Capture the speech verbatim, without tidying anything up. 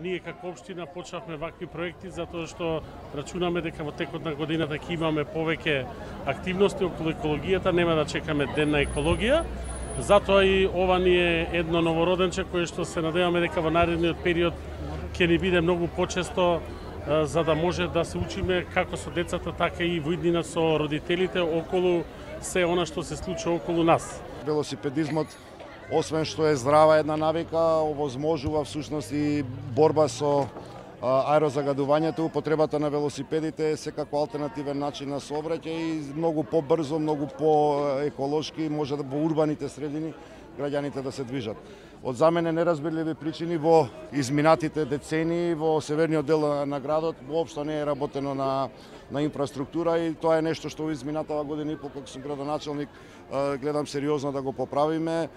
Ние како општина почнавме вакви проекти затоа што рачунаме дека во текот на годината ќе имаме повеќе активности околу екологијата, нема да чекаме ден на екологија. Затоа и ова ни е едно новороденче кое што се надеваме дека во наредниот период ќе ни биде многу почесто, за да може да се учиме како со децата, така и во иднина со родителите околу се она што се случува околу нас. Велосипедизмот, освен што е здрава една навика, овозможува всушност и борба со аерозагадувањето. Употребата на велосипедите е секако алтернативен начин на сообраќај и многу побрзо, многу поеколошки може да во урбаните средини граѓаните да се движат. Од за мене неразбирливи причини во изминатите децении во северниот дел на градот воопшто не е работено на на инфраструктура и тоа е нешто што во изминатава година и по кога сум градоначелник гледам сериозно да го поправиме.